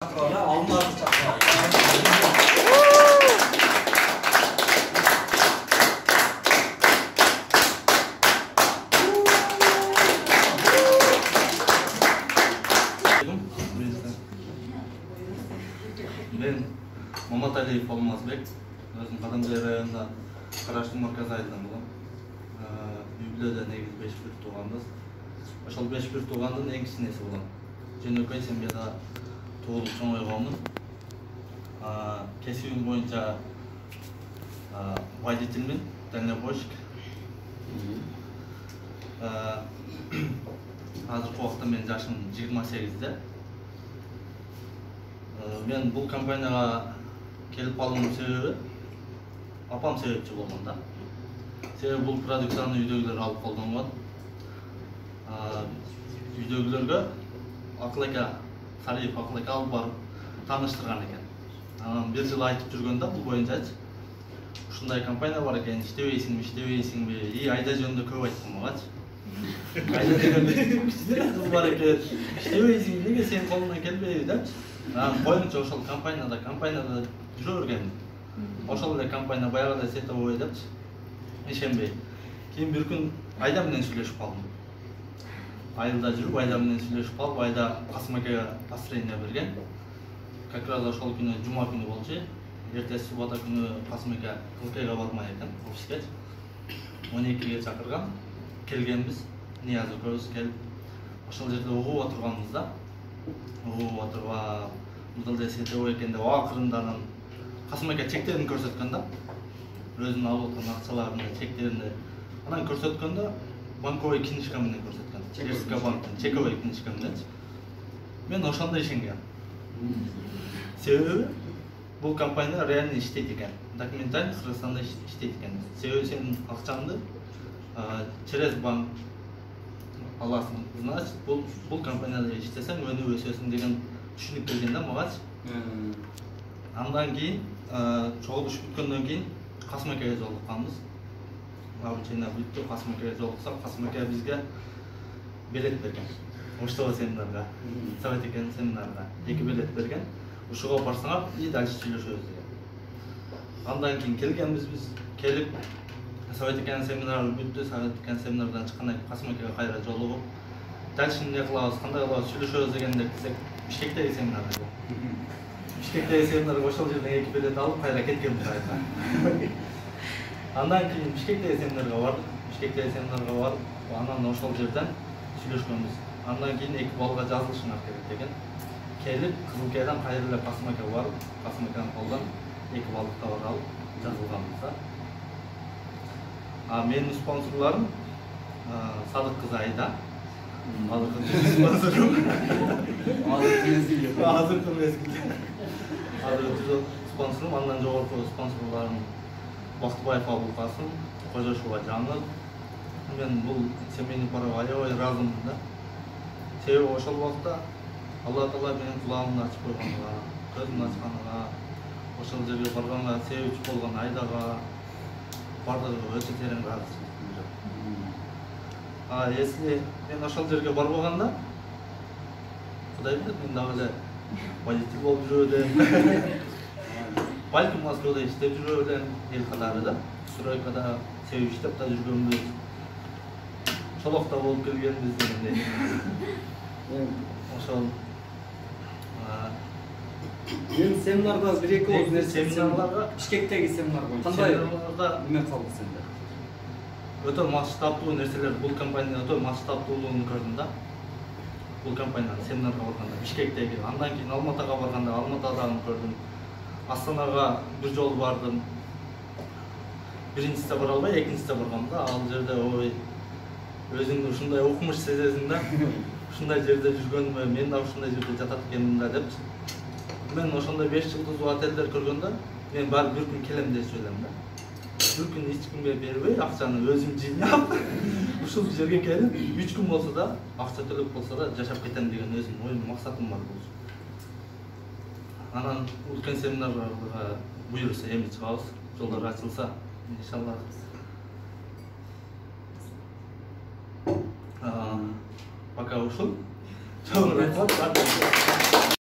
Ben Маматалиев Алмазбек, өзüm Кадамжай районунда Караштуу марказ айылынан болом. Үй-бүлөдө негизи 5-1 тууганбыз. Ошол 5-1 туугандын эң кичинеси болом. Жөнөкөй семьяда туулуп чоңойгонмун. Кесибим боюнча водительмин, дальнобойщик. Азыркы убакта менин жашым 28-де. Мен бул компанияга келип калуумдун себеби апам себепчи болгон да. Себеби бул продукцияны үйдөгүлөр алып колдонгон. Үйдөгүлөргө Акылака Сариев Акылака алып барып тааныштырган экен. Анан бир жыл айтып жүргөндө бул боюнчачы ушундай компания бар экен, иштебейсиңби? Айда жөнүндө көп айткан магачы. Айда дегенде кичине кыз бар экен, иштебейсиң, неге сенин колуңдан келбейби депчи. Коюңчу ошол компанияда жүрө бергенмин. Ошол эле компания баягыдай сетовой депчи. Ишенбей. Кийин бир күн Айда менен сүйлөшүп калдым. Айылда жүрүп, Айда менен сүйлөшүп калып, Айда Касым акеге построение берген. Как раз ошол күнү жума күнү болчу. Эртеси суббота күнү Касым аке Кылкайга бармай экен, офиске. 12-ге чакырган. Келгенбиз. Нияз экөөбүз келип, ошол жерде угуп отурганбыз да. Угуп отурган, мындай сетовой экен деп акырында анан Касым аке чектерин көрсөткөн да. Өзүнүн алып аткан акчаларынын чектерин анан көрсөткөндө банковый книжка менен көрсөткөн. Чекерска банктын чековой книжка мененчи. Мен ошондо ишенген. Себеби бул компания реально иштейт экен. Документально Кыргызстанда иштейт экен. Себеби сенин акчаңды через банк аласың. Значит, бул компанияда иштесең өнүп өсөсүң деген түшүнүк келген да магачы. Андан кийин чогулуш бүткөндөн кийин Касым акеге жолукканбыз. Обучение бүттү, Касым акеге жолуксак, Касым аке бизге билет берген. Оштогу семинарга, Совет экен семинарга 2 билет берген. Ушуга барсаңар и дальше сүйлөшөбүз деген. Андан кийин келгенбиз биз, келип Совет экен семинар бүттү, Совет экен семинардан чыккандан кийин Касым акеге кайра жолугуп, дальше эмне кылабыз, кандай кылабыз, сүйлөшөбүз дегенде десек, Бишкектеги семинарга. Бишкектеги семинарга ошол жерден 2 билет алып кайра кеткенбиз айта. Андан кийин Бишкектеги семинарга бардык. Бишкектеги семинарга барып, анан ошол жерден сүйлөшкөнбүз. Андан кийин 2 балга жазылышыңар керек деген. Келип, Кызылкайдан кайра эле Касым аке барып, Касым акенин колдон 2 балдык товар алып жазылганбыз да. Менин спонсорлорум Садык кызы Айда. Азыркы спонсорум, андан жогорку спонсорлорум Бактыбаев Абулкасым, Кожошова Жаңыл. Мен бул семейный парага аябай ыраазымын да. Себеби ошол убакта Алла Таала менин кулагымды ачып койгонуга, көзүмдү ачканга, ошол жерге барганга себепчи болгон Айдага бардыгы өтө терең ыраазычылык билдирем. Если мен ошол жерге барбаганда, Кудай билет, мен дагы эле водитель болуп жүрөм элем. Балким Москвада иштеп жүрөм элем, эл катары да. Стройкада себеп иштеп да жүргөнбүз. Шолокто болуп келгенбиз дегендей. Ошол Мен семинарда бир-эки нерсе семинарларга, Бишкектеги семинар боюнча кандай эме калды сенде? Өтө масштабдуу нерселер, бул компания өтө масштабдуулугун көрдүм да. Бул компаниянын семинарга барганда Бишкектеги, андан кийин Алматага барганда Алматадагы көрдүм. Астанага бир жолу бардым. Биринчисине бара албай, экинчисине баргам да. Ал жерде ой, өзүңдү ушундай укмуш сезесиң да. Ушундай жерде жүргөнүмө, мен да ушундай жерде жатат экенмин да деп. Мен ошондой 5 жылдыз отелдер көргөндө, мен баары бир күн келем деп ойлойм да. Бир күн эч кимге бербей, акчаны өзүм жыйнап, ушул жерге келип, 3 күн болсо да, акча төлөп болсо да жашап кетем деген өзүм оюм, максатым бар болчу. Анан үлкен семинарга буюрса эми чыгабыз, жолдор ачылса, иншалла. Пока ушул.